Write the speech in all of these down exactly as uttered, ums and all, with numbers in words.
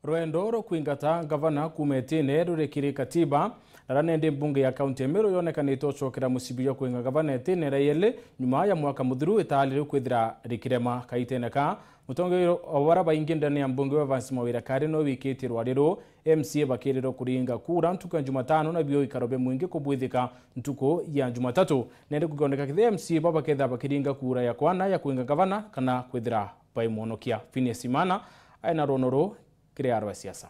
Rwendo rwa kwingata ngavana kuuma itine ruri kiri katiba, na ra nendi mbunge ya kaunti ya Meru yonekanite ucokera mucibi jwa kwinga ngavana itine ra yeli nyuma ya mwaka muthiru itaali riu kwithira rikirema. Kaitene ka, mutongeria wa bara baingi ndene ya mbunge wa Evans Mawira Kari no wikitie rwari ruu, M C A bakirirwa kuringa kura ntuku ya Jumatano, na bio ikaro bia mwingi kubwithika ntuku ya Jumatatu. Nendi kukioneka kethira M C A baba bakethira bakiringa kura ya kwana ya kwinga ngavana kana kwithira baimwonokia. Phineas Imana aina rwono ruu kiri arwa siasa.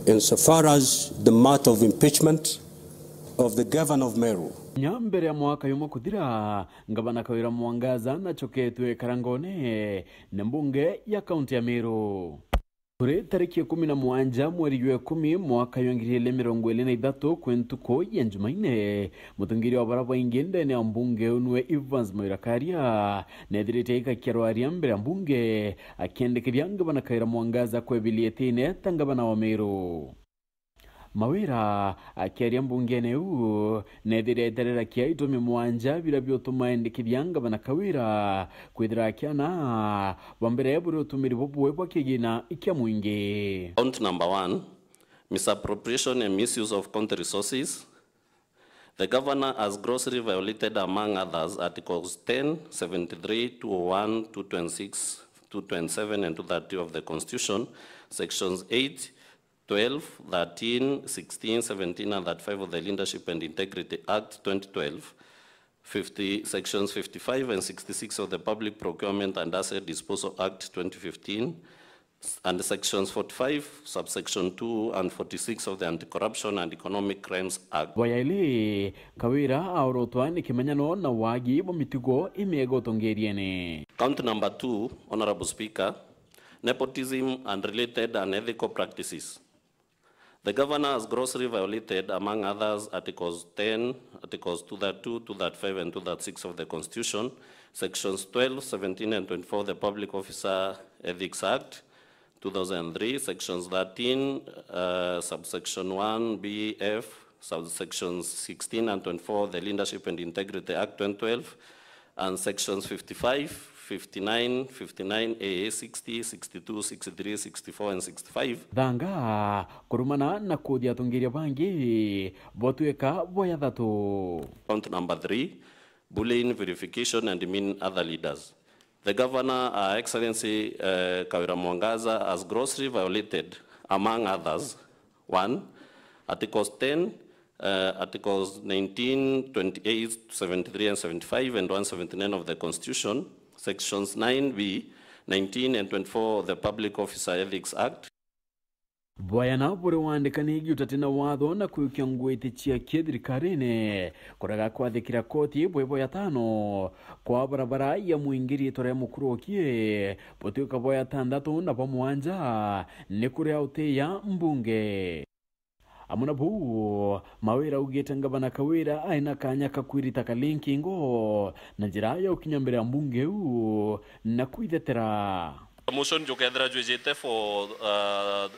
Insofar as the matter of impeachment of the governor of Meru. Nya mbere ya mwaka yumwe kuthira, ngavana Kawira Mwangaza nacoketwe karangone na mbunge ya kaunti ya Meru. Kuri tariki ikumi na mugwanja mweri jwa ikumi mwaka jwa ngiri igiri mirongo iri na ithatu, kwi ntuku ya Njumaine, mutongeria wa bara baingi ndene ya mbunge uu niwe Evans Mawira Karia, neethirite aikakia rwaria mbere ya mbunge, akiendekithia ngavana Kawira Mwangaza kwebilia itine ta ngavana wa Meru. Mawira akiaria mbungene iu, neethire eterera kia itumi mwanja biria biutuma endekithia ngavana Kawira kwithira akiana bwa mbere buri utumiri bubwe bwa kigina kia mwingi. Count number one, misappropriation and misuse of county resources. The governor has grossly violated, among others, Articles ten, seventy-three, two oh one, two twenty-six, two twenty-seven, and two thirty of the Constitution, Sections eight, twelve, thirteen, sixteen, seventeen, and thirty-five of the Leadership and Integrity Act twenty twelve, fifty, Sections fifty-five and sixty-six of the Public Procurement and Asset Disposal Act twenty fifteen, and Sections forty-five, subsection two, and forty-six of the Anti-Corruption and Economic Crimes Act. Bwa yaili, Kawira aorotwa ni kimenyano na wagi bwa mitugo imiega utongeriene. Count number two, Honourable Speaker, nepotism and related unethical practices. The governor has grossly violated, among others, Articles ten, Articles two thirty-two, two thirty-five, and two thirty-six of the Constitution, Sections twelve, seventeen, and twenty-four of the Public Officer Ethics Act two thousand three, Sections thirteen, uh, subsection one B F, subsections sixteen and twenty-four of the Leadership and Integrity Act twenty twelve, and Sections fifty-five, fifty-nine, fifty-nine A, sixty, sixty-two, sixty-three, sixty-four, and sixty-five. Thanga kurumana na kuthia atongeria bangi botwika boya thatu. Count number three, bullying, vilification, and demeaning other leaders. The Governor, Her Excellency, uh, Kawira Mwangaza, has grossly violated, among others, one, Articles ten, uh, Articles nineteen, twenty-eight, seventy-three and seventy-five, and one seventy-nine of the Constitution, Sections nine B, nineteen and twenty-four of the Public Officer Ethics Act. Bwayana buri wandikani giutati na watho na kwikia ngwiti cia kithirikarine, kurega kwathikira koti bwi bwa yatano kwa barabara ya mwingi riitwa ria Mukuru Okie, butwika bwa yatanthatu na bwa mwanja ni kuria uti ya mbunge. Amwe na buu, Mawira augite ngavana Kawira aina kanya ka kwirita Kalinki ngo na njira ya ukinya mbere ya mbunge iu na kwithetera. Motion jukethira jwijite for, uh,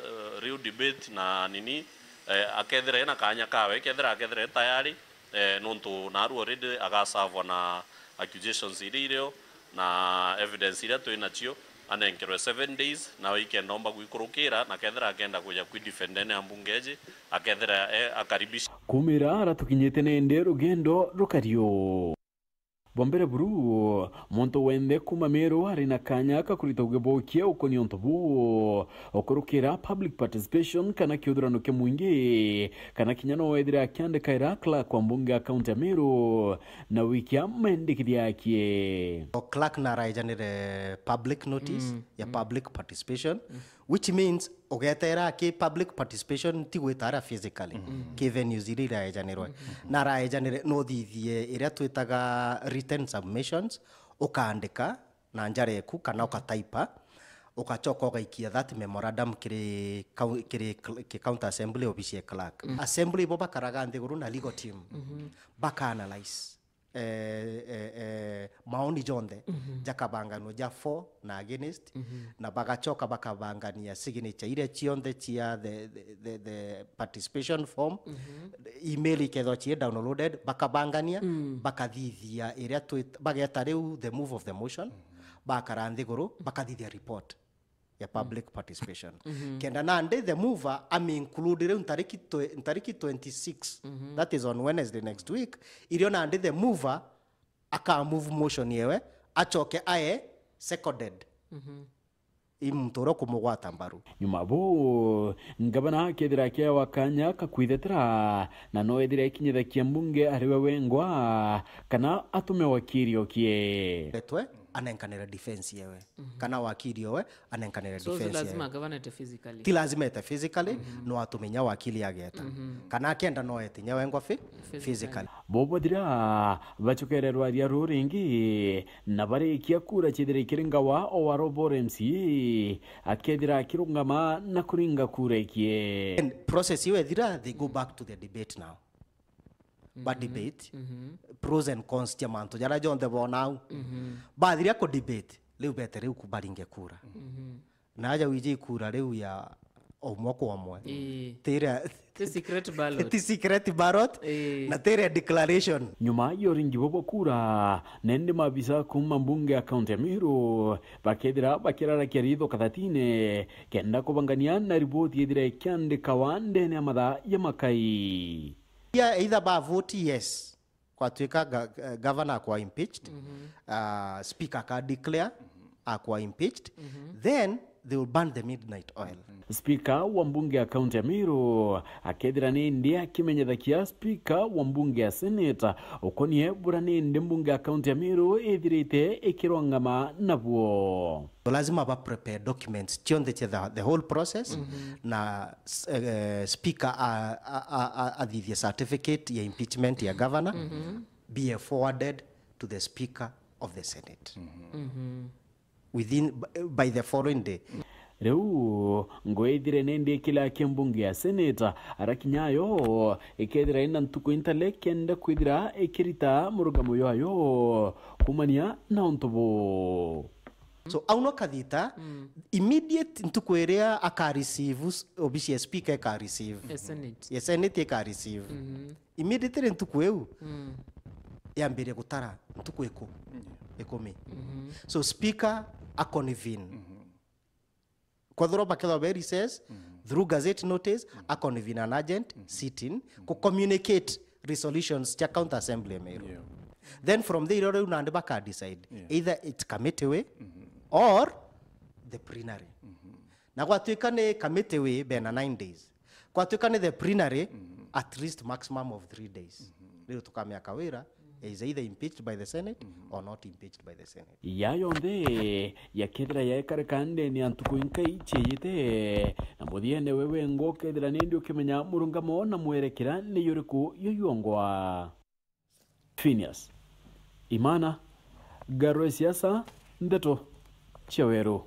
real debate na nini, eh, akethira ena kanya kawe, kethira akethira e tayari, eh, nontu naru already agasavwa na accusations iria irio, na evidence iria twi nacio, anenkerwe seven days, na weekend omba gwikurukira, na kethira akenda kuja kwidefend ene ya mbunge eji, akethira e akaribisha. Kumira ara tukinyite nende rugendo rukario. Bwa mbere buru, muntu wenthe kuuma Meru ari na kanya ka kurita ugibokia ukonia untu buu, ukurukira public participation kana kiuthurano kia mwingi, kana kinya no wethire akiandikaira clerk wa mbunge ya kaunti ya Meru na wikia mendikithia akie. O clerk na araejanire public notice ya public participation, which means ugeteera ki public participation ti gwita ara physically, ki venues iria iraejanirwe. Na araejanire no thithie iria twitaga written submissions, ukaandika na njara eku kana ukataipa, ugacoka ugaikia that memorandum kiri kau-, kiri cl-, ki county assembly, obisi ya clerk. Assembly ibo bakaraga nthiguru na legal team, baka analyse eh, eh, eh, maoni jonthe jakabanganua ja for na against, na bagacoka bakabangania signature iria cionthe cia the, the, the, the participation form. Email ikethwa cie downloaded, bakabangania, bakathithia iria twit-, bageta riu the move of the motion, bakara nthiguru, bakathithia report. ya public participation. Kenda nandi the mover ami include riu ntariki twe-, ntariki twenty-six, that is on Wednesday next week, irio nandi the mover aka move motion yewe, acoke ae seconded i muntu uria ukumugwata mbaru. Nyuma bu, ngavana akethira akiewa kanya ka kwithetera, na no ethire akinyithakia mbunge ari we wengwa, kana atume wakiri okie. Etwe anenkanire defense yewe, kana wakiri owe anenkanire So, so defense lazima yewe. Gavana ete physically. Ti lazima ete physically, no atumenya wakiri ageta. Kana akenda no ete nya wengwa phy-, physically. Physically. Bo bathira, bacokererwa aria ruu ringi, na barikia kura ciethira ikiri ngawa o wa Robo M C A, akethira akirungama na kuringa kura ikie. And process iu ethira, they go back to the debate now. Ba debate, pros and cons cia mantu jaria jonthe bona au. Bathiria ku debate, riu bete riu ku baringe kura. Na aja wiji ikura riu ya omwe kwa omwe. Ii. Tira Ti secret ballot. Ti secret ballot, Ii. na tira declaration. Nyuma ya uringi bwa kura, nende mabisa kuma mbunge ya kaunti ya Meru bakethira bakirarakia ritho kathatine kenda kubangania na riboti ithira ikiandikawa ndene ya mathaa ya makai. Yeah, either ba vote yes, kwatuika ga-, eh, governor akwa impeached, uh, speaker aka declare akwa impeached, then they will burn the midnight oil. Speaker wa mbunge ya kaunti ya Meru akethira nindi akimenyethakia speaker wa mbunge ya senate ukonie bura nindi mbunge ya kaunti ya Meru ithirite ikirwangama nabuo. So lazima ba prepare documents cionthe cia the, the whole process, na s-, eh, speaker a, a, a, a, athithie certificate ya impeachment ya governor, be forwarded to the speaker of the senate within, by the following day. Riu ngwithire nindi ikila kia mbunge ya senate, arakinya ayo ikethira ina ntuku intale kenda kwithira ikirita murugamo jwayo kumania na untu bu. So, au no kathita, immediate ntuku iria aka receive s-, obisi ya speaker ika receive. Ya senate. Ya senate ika receive. Immediately ntuku iu, yambirie gutara ntuku iku-, ikumi. So, speaker a convene. Kwethirwa bakethirwa be recess, through gazette notice, a convene an urgent sitting, ku communicate resolutions cia county assembly ya Meru. Yeah. Then from there, irio riu nandi baka decide, Yeah. either it's committee way or the plenary. Na gwatuika ni committee way, bena nine days. Gwatuika ni the plenary, at least maximum of three days. Riu tukamea Kawira is either impeached by the Senate or not impeached by the Senate. Ya yonthe yakethira yaekareka ndene ya ntuku inkai cieyite, na muthiene we wengwa ukethira nindi ukimenya murungamo na mwerekera ni yuriku yuyongwa. Phineas Imana, Ngaro ya Siasa, Ndeto cia Weru.